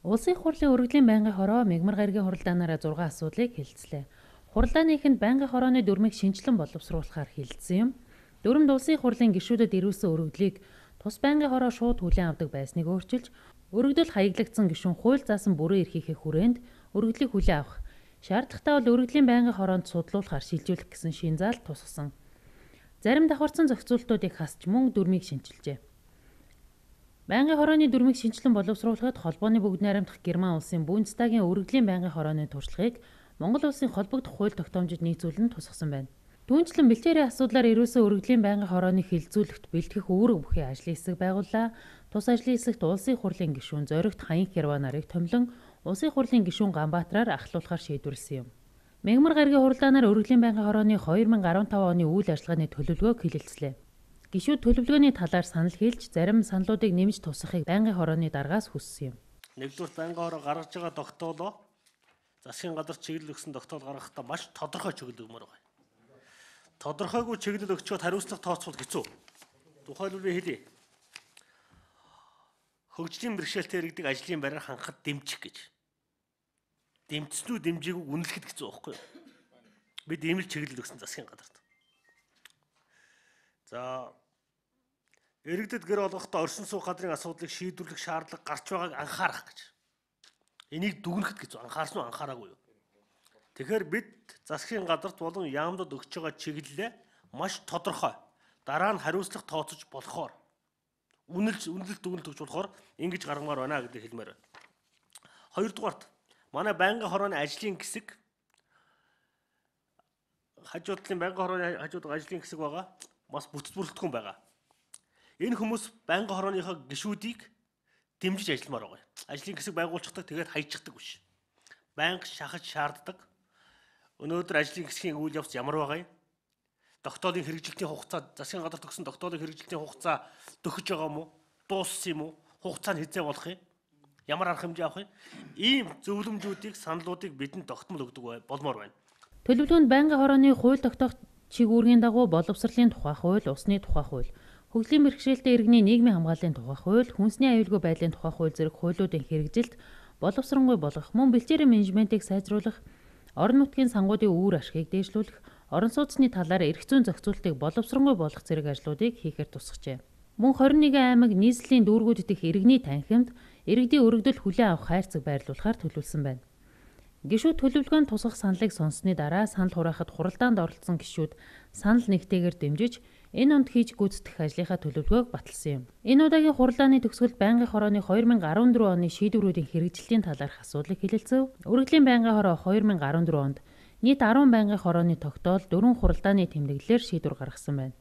Улсын хурлын өргөдлийн байнгын хороо мягмар гаригийн хуралдаанаараа 6 асуудлыг хэлэлцлээ. Хуралдааны эхэнд байнгын хорооны дүрмийг шинжилэн боловсруулахаар хэлэлцсэн юм. Дүрмд улсын хурлын гишүүдэд ирүүлсэн өргөдлийг тус байнгын хороо шууд хүлээн авдаг байсныг өөрчилж, өргөдөл хаяглагдсан гишүүн хууль заасан бүрэн эрхийнхээ хүрээнд өргөдлийг хүлээн авах, шаардлагатай бол өргөдлийн байнгын хороонд судлуулахаар шилжүүлэх гэсэн шин заалт тусгасан. Зарим давхарцсан зохицуултуудыг хасч мөн дүрмийг шинжилжээ. Байнгын хорооны дүрмийг шинжилэн боловсруулахад холбооны бүгд найрамдах Герман улсын Бундестагийн өргөдлийн байнгын хорооны туршлагыг Монгол улсын холбогдох хууль тогтоомжид нийцүүлэн тусгасан байна. Түүнчлэн бэлчээрийн асуудлаар ирүүлсэн өргөдлийн байнгын хорооны хилцүүлэгт бэлтгэх үүрэг бүхий ажлын хэсэг байгууллаа. Тус ажлын хэсэгт улсын хурлын гишүүн Зоригт Хаян Херва нарыг томилон улсын хурлын гишүүн Ганбаатраар ахлуулахар шийдвэрлсэн юм. Мягмар гаригийн хуралдаанаар өргөдлийн байнгын хорооны 2015 оны үйл ажиллагааны төлөвлөгөөг хэлэлцлээ. Гишүүд төлөвлөгөөний талаар санал хэлж, зарим саналуудыг нэмж тусахыг байнгын хорооны даргаас хүссэн юм. Нэгдүгээр байнгын хороо гаргаж байгаа тогтоолоо засгийн газар чиглэл өгсөн тогтоол гаргахдаа маш тодорхой чиглэл өгмөр байна. Тодорхойгүй чиглэл өгчөөд хариуцлага тооцвол хэцүү. Тухайлбал хэлье. Хөгжлийн бэрхшээлтэй иргэдэг ажлын байраар хангахад дэмжих гэж. Дэмжснүү дэмжээгүйг үнэлэхэд хэцүү байхгүй юу? Бид ийм л чиглэл өгсөн засгийн газарт. За иргэдэд гэр олгохдоо оршин суух газрын асуудлыг шийдвэрлэх шаардлага гарч байгааг анхаарах гэж. Энийг дүгнэхэд гэж анхаарсан уу анхаараагүй юу? Тэгэхээр бид засгийн газарт болон яамдад өгч байгаа чиглэлээ маш тодорхой дараа нь хариуцлага тооцож болохоор үнэлэлт дүгнэлт өгч болохоор ингэж гаргамаар байна гэдэг хэлмээр байна. Хоёрдугаарт манай байнгын хорооны ажлын хэсэг хажуудлын байнгын хорооны хажууд ажлын хэсэг байгаа. Бас бүтэц бүрэлдэхүүн байгаа. Энэ хүмүүс байнгын хорооныхоо гишүүдийг дэмжиж ажилламаар байгаа. Ажлын хэсэг байгуулчихдаг тэгээд хайчихдаг биш. Байнга шахаж шаарддаг. Өнөөдөр ажлын хэсгийн үйл явц ямар байгаа юм? Тогтоолын хэрэгжилтийн хугацаа засгийн газар төгсөн тогтоолын хэрэгжилтийн хугацаа төгсөж байгаа юм уу? Дууссан юм уу? Хугацаа нь хэзээ болох юм? Ямар арга хэмжээ авах юм? Ийм зөвлөмжүүдийг, саналуудыг бидэнд тогтмол өгдөг болмоор байна. Төлөвлөгөөнд байнгын хорооны хууль тогтоох чиг үүргийн дагуу боловсролын тухай хууль, усны тухай хууль, хөгжлийн бэрхшээлтэй иргэний нийгмийн хамгааллын тухай хууль, хүнсний аюулгүй байдлын тухай хууль зэрэг хуулиудын хэрэгжилт боловсронгүй болгох, мөн бэлчээрийн менежментийг сайжруулах, орон нутгийн сангуудын үр ашгийг дээшлүүлэх, орон сууцны талаар эрх зүйн зохицуултыг боловсронгүй болгох зэрэг ажлуудыг хийхээр тусгажээ. Мөн 21 аймаг нийслэлийн дүүргүүд дэх иргэний танхимд иргэдийн өргөдөл хүлээн авах хайрцаг байрлуулахаар төлөвлөсөн байна. Гишүүд төлөвлөгөөнд тусгах саналыг сонссны дараа санал хураахад хуралдаанд оролцсон гишүүд санал нэгтэйгээр дэмжиж энэ онд хийж гүйцэтгэх ажлынхаа төлөвлөгөөг баталсан юм. Энэ удаагийн хуралдааны төгсгөлд байнгын хорооны 2014 оны шийдвэрүүдийн хэрэгжилтийн талаарх асуудлыг хэлэлцэв. Өргөдлийн байнгын хороо 2014 онд нийт 10 байнгын хорооны тогтоол 4 хуралдааны тэмдэглэлээр шийдвэр гаргасан байна.